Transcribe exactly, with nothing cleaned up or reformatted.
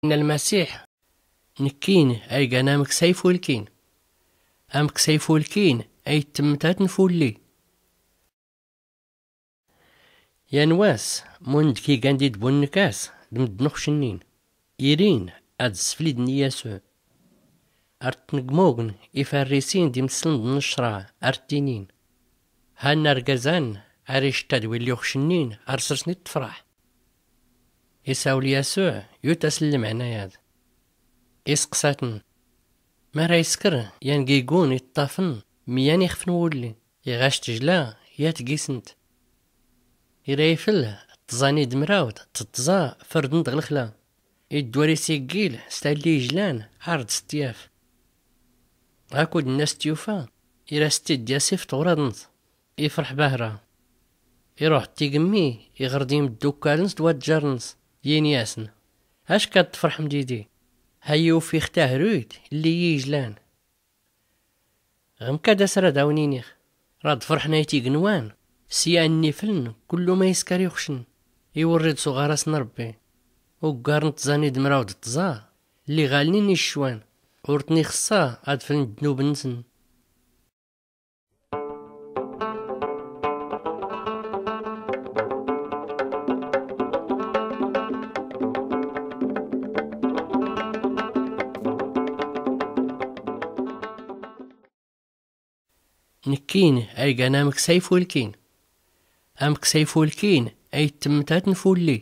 Nna lmasiḥ, nekkin aygan amksay fulkin. Amksay fulkin ay tmtat nfulli. Yan wass, mund kigan di dbun nkas d mddn uxcnnin, irin ad sflidn i yasuɛ. Ar tnggmugn ifarrisin d imssln d nccraɛ, ar ttinin, han argazan ar icttad willi uxcnnin ar srsn i ttfraḥ. Isawl yasuɛ yut asn lmɛna yad, isqsatn, mara iskr yan gigun iṭṭafn myan ixf n wulli, iɣac tjla yat gisnt. Ira ifl tẓa n idmrawt d tẓa frdn d ɣlxla, iddwar isiggil s talli ijlan ar d sṭyaf. Akud nna s tyufa ira s tidyas ifṭ ɣur-adnt, ifrḥ bahra. Iruḥ d tigmmi iɣr d imddukkal-ns d wadjar-ns, yini-asn, ack ad tfrḥm didi, ha iwf ix tahruyt lli iyi ijlan. Ɣmkad asr ad awn-inix, rad frḥn ayt ignwan s yan n ifln kullu ma iskar ixcn, iwrrid s uɣaras n rbbi. Uggar n tẓa n idmrawt d tẓa lli ɣalnin iccwan, ur tn ixṣṣa ad fln ddnub-nsn. Nekkin aygan amksay fulkin. Amksay fulkin ay tmtat nfulli.